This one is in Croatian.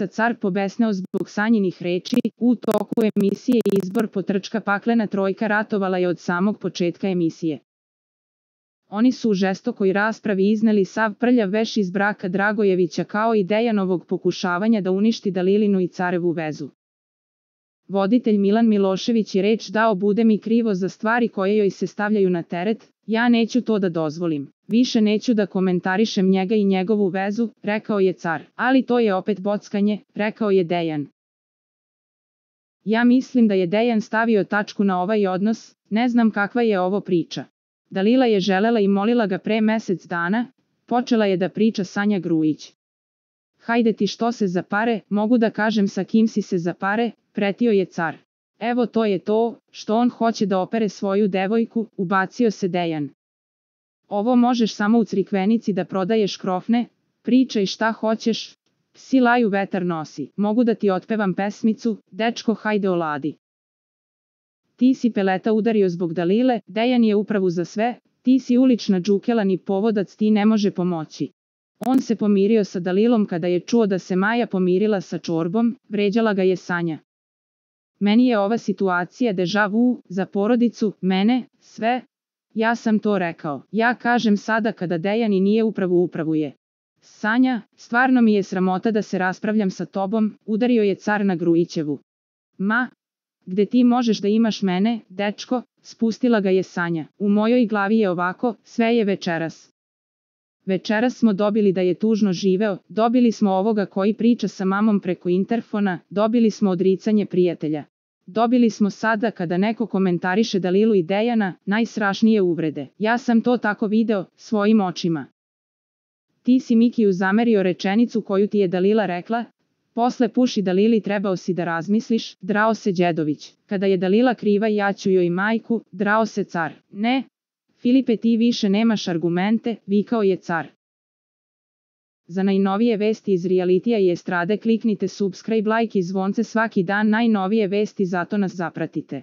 car pobesneo zbog Sanjinih reči. U toku emisije izbor potrčka paklena trojka ratovala je od samog početka emisije. Oni su u žestokoj raspravi izneli sav prljav veš iz braka Dragojevića kao i Dejanovog pokušavanja da uništi Dalilinu i carevu vezu. Voditelj Milan Milošević je reč dao: bude mi krivo za stvari koje joj se stavljaju na teret, ja neću to da dozvolim. Više neću da komentarišem njega i njegovu vezu, rekao je car. Ali to je opet bockanje, rekao je Dejan. Ja mislim da je Dejan stavio tačku na ovaj odnos, ne znam kakva je ovo priča. Dalila je želela i molila ga pre mesec dana, počela je da priča Sanja Grujić. Hajde ti što se za pare, mogu da kažem sa kim si se za pare, pretio je car. Evo to je to, što on hoće da opere svoju devojku, ubacio se Dejan. Ovo možeš samo u Crikvenici da prodaješ krofne, pričaj šta hoćeš, psi laju vetar nosi, mogu da ti otpevam pesmicu, dečko hajde oladi. Ti si peleta udario zbog Dalile, Dejan je upravu za sve, ti si ulična džukela ni povodac ti ne može pomoći. On se pomirio sa Dalilom kada je čuo da se Maja pomirila sa Čorbom, vređala ga je Sanja. Meni je ova situacija deja vu, za porodicu, mene, sve. Ja sam to rekao. Ja kažem sada kada Dejan i nije upravu je. Sanja, stvarno mi je sramota da se raspravljam sa tobom, udario je car na Grujićevu. Ma, gde ti možeš da imaš mene, dečko, spustila ga je Sanja. U mojoj glavi je ovako, sve je večeras. Večeras smo dobili da je tužno živeo, dobili smo ovoga koji priča sa mamom preko interfona, dobili smo odricanje prijatelja. Dobili smo sada kada neko komentariše Dalilu i Dejana, najstrašnije uvrede. Ja sam to tako video, svojim očima. Ti si Mikiju zamerio rečenicu koju ti je Dalila rekla, posle puši Dalili trebao si da razmisliš, drao se Đedović. Kada je Dalila kriva ja ću joj majku, drao se car. Ne, Filipe ti više nemaš argumente, vikao je car. Za najnovije vesti iz realitija i estrade kliknite subscribe, like i zvonce svaki dan, najnovije vesti, zato nas zapratite.